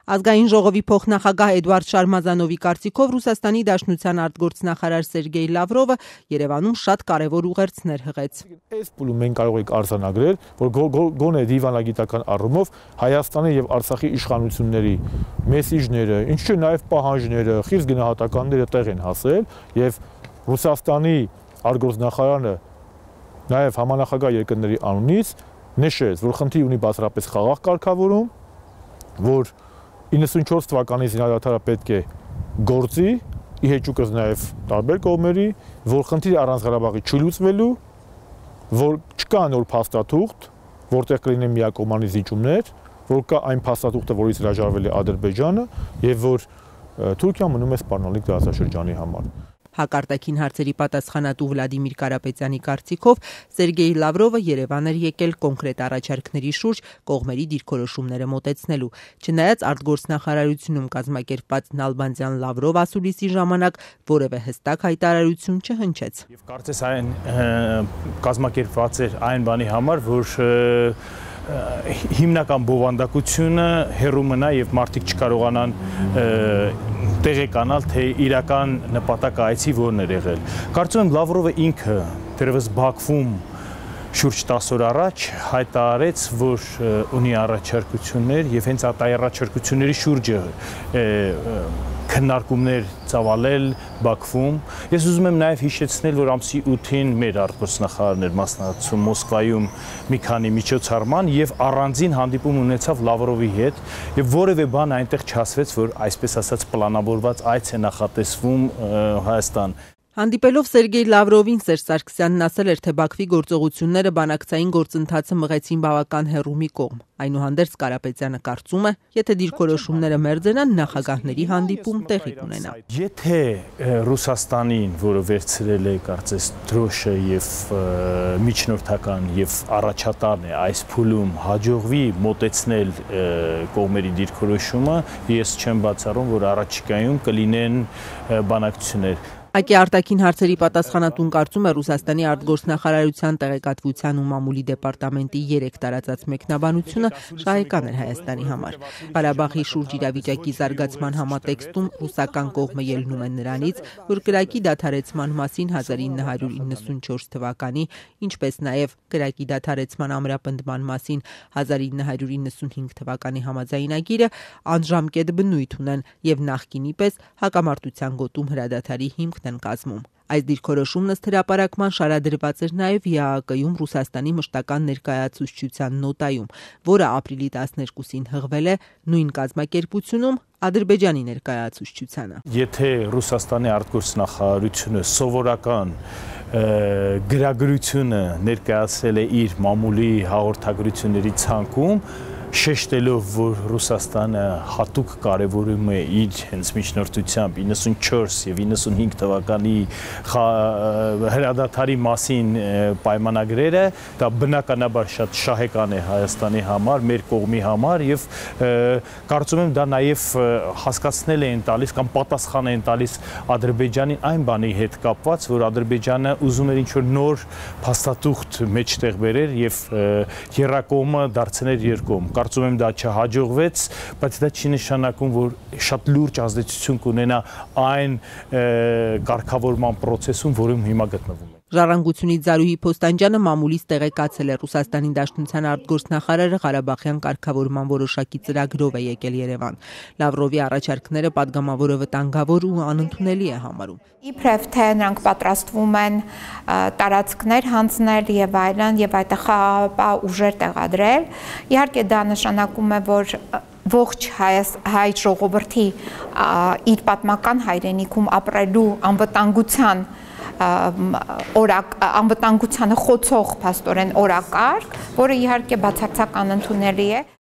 Ազգային ժողովի փոխնախագահ Էդուարդ Շարմազանովի կարծիքով Ռուսաստանի Դաշնության արտգործնախարար Սերգեյ Լավրովը Երևանում շատ կարևոր ուղերձներ հղեց։ Այս փուլում մենք կարող ենք արձանագրել, որ գոնե դիվանագիտական առումով Հայաստանի եւ Արցախի իշխանությունների մեսիջները, ինչու նաեւ պահանջները, խիստ գնահատականները տեղ են հասել եւ Ռուսաստանի արտգործնախարարը նաեւ համանախագահ երկրների անունից նշեց, որ խնդիր ունի բացառապես խաղաղ կարգավորում, որ 94 թվականի զինադատարը պետք է գործի, ի հեճուկս նաև տարբեր կողմերի, որ խնդիրը առանց Ղարաբաղի չլուծվելու, որ չկա նոր փաստաթուղթ, որտեղ կլինեն միակողմանի զիջումներ, որ կա այն փաստաթուղթը, որից հրաժարվել է Ադրբեջանը, եւ որ Թուրքիան մնում է սպառնալիք դարաշրջանի համար։ Հակարտակին հարցերի պատասխանատու Վլադիմիր Կարապետյանի կարծիքով Սերգեյ Լավրովը Երևան էր եկել կոնկրետ առաջարկների շուրջ կողմերի դիրքորոշումները մոտեցնելու։ Չնայած արտգործնախարարությունում կազմակերպված Նալբանդյան Լավրով ասուլիսի ժամանակ որևէ հստակ հայտարարություն չհնչեց։ Եվ կարծես այն կազմակերպված էր այն բանի համար, որ հիմնական բովանդակությունը հեռու մնա եւ մարդիկ չկարողանան տեղեկանալ, թե իրական նպատակը այցի որն էր եղել։ Կարծում եմ Լավրովը ինքը դեռևս Բաքվում շուրջ 10 օր առաջ հայտարարեց, որ ունի առաջարկություններ եւ հենց այդ առաջարկությունների շուրջը քննարկումներ ծավալել Բաքվում։ Ես ուզում եմ նաև հիշեցնել, որ ամսի 8-ին մեր արտգործնախարարն էր մասնակցում Մոսկվայում մի քանի միջոցառման եւ առանձին հանդիպում ունեցավ Լավրովի հետ եւ որևէ բան այնտեղ չասվեց, որ այսպես ասած պլանավորված այց է նախատեսվում Հայաստան։ Հանդիպելով Սերգեյ Լավրովին Սերժ Սարգսյանն ասել էր, թե Բաքվի գործողությունները բանակցային գործընթացը մղեցին բավական հեռու մի կողմ։ Այնուհանդերձ Կարապետյանը կարծում է, եթե դիրքորոշումները մերձենան, նախագահների հանդիպում տեղի կունենա։ Եթե Ռուսաստանին, որը վերցրել է կարծես դրոշը եւ միջնորդական եւ առաջատարն է այս փուլում հաջողվի մոտեցնել կողմերի դիրքորոշումը, ես չեմ բացառում, որ առաջիկայում կլինեն բանակցություններ։ ԱԿ արտաքին հարցերի պատասխանատուն կարծում է Ռուսաստանի արտգործնախարարության տեղեկատվության ու մամուլի դեպարտամենտի 3 տարածած մեկնաբանությունը շահեկան էր Հայաստանի համար։ Ղարաբաղի շուրջ իրավիճակի զարգացման համատեքստում ռուսական կողմը ելնում է նրանից, որ կրակի դադարեցման մասին 1994 թվականի, ինչպես նաև կրակի դադարեցման ամրապնդման մասին 1995 թվականի համաձայնագիրը անժամկետ բնույթ ունեն եւ նախկինի պես հակամարտության գոտում հրադադարի հիմքն են կազմում։ Այս դիրքորոշումն ըստ հրապարակման շարադրված էր նաև ԵԱՀԿ-ում Ռուսաստանի մշտական ներկայացուցչության նոտայում, որը ապրիլի 12-ին հղվել է նույն կազմակերպությունում Ադրբեջանի ներկայացուցչությանը։ Եթե Ռուսաստանի արտգործնախարարությունը սովորական գրագրությունը ներկայացրել է իր մամուլի հաղորդագրությունների ցանկում, շեշտելով, որ Ռուսաստանը հատուկ կարևորում է իր հենց միջնորդությամբ 94 եւ 95 թվականի հրադադարի մասին պայմանագրերը, դա բնականաբար շատ շահեկան է Հայաստանի համար, մեր կողմի համար եւ կարծում եմ դա նաեւ հասկացնել են տալիս կամ պատասխան են տալիս Ադրբեջանին այն բանի հետ կապված, որ Ադրբեջանը ուզում էր ինչ-որ նոր փաստաթուղթ մեջտեղ բերել եւ երրակողմը դարձնել երկկողմ։ Կարծում եմ դա չհաջողվեց, բայց դա չի նշանակում, որ շատ լուրջ ազդեցություն կունենա այն կարգավորման process-ում, որում հիմա գտնվում ենք։ Ժառանգությունից Զարուհի Փոստանջյանը մամուլից տեղեկացել է Ռուսաստանի Դաշնության արտգործնախարարը Ղարաբաղյան կարգավորման որոշակի ծրագրով է եկել Երևան։ Լավրովի առաջարկները падգամավորը վտանգավոր ու անընդունելի է համարում։ Իբրև թե նրանք պատրաստվում են տարածքներ հանձնել եւ այլն եւ այդտեղ խաղաղապահ ուժեր տեղադրել, իհարկե դա նշանակում է, որ ողջ հայ ժողովրդի իր պատմական հայրենիքում ապրելու անվտանգությանը խոցող փաստորեն օրակարգ, որը իհարկե բացարձակ անընդունելի է։